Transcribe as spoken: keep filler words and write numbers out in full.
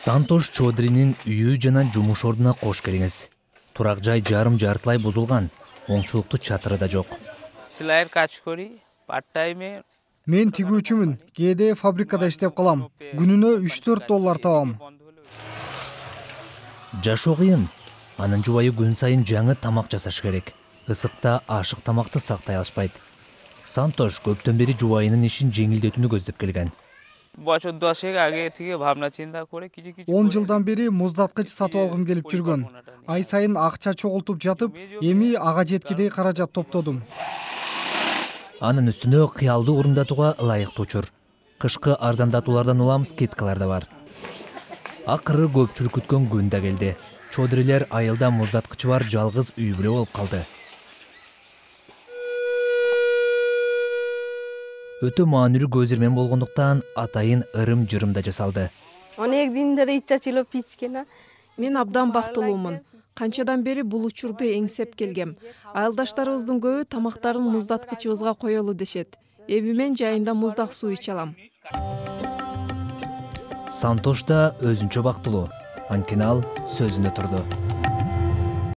Сантош Чодринин үйү жана жумуш ордуна кош келиңиз. Турак жай жарым жартылай бузулган, оңчулуктуу чатыры да жок. Силайр кач кори, парт тайме. Мен тигүүчүмүн, кээде фабрикада иштеп калам. Күнүнө үч төрт доллар табам. Жашоо кыйын. Анын жубайы күн сайын жаңы тамак жасаш керек. Ысыкта ашык тамакты сактай алышпайт. Сантош көптөн бери жубайынын ишин жеңилдетүүнү көздөп келген. он жылдан бери муздаткыч сатып алгым келип жүргөн. Ай сайын акча чогултуп жатып, эми ага жеткидей каражат топтодум. Анын үстүнө кыялды орундатууга ылайыктуу учур. Кышкы арзандатуулардан уламыз скидкалар да бар. Акыры көпчүлүк күткөн күн да келди. Чодрилер айылда муздаткычы бар жалгыз үй бүлө болуп калды. Өтө маанилүү көзирмен болгондуктан атайын ырым-жырым да жасалды. Мен абдан бактылуумун. Канчадан бери бул учурду эңсеп келгем. Айылдаштарыбыздын көбү тамактарын муздаткычыбызга коелу дешет. Эми мен жайында муздак суу иче алам. Сантош да өзүнчө бактылуу. Анткени ал сөзүндө турду.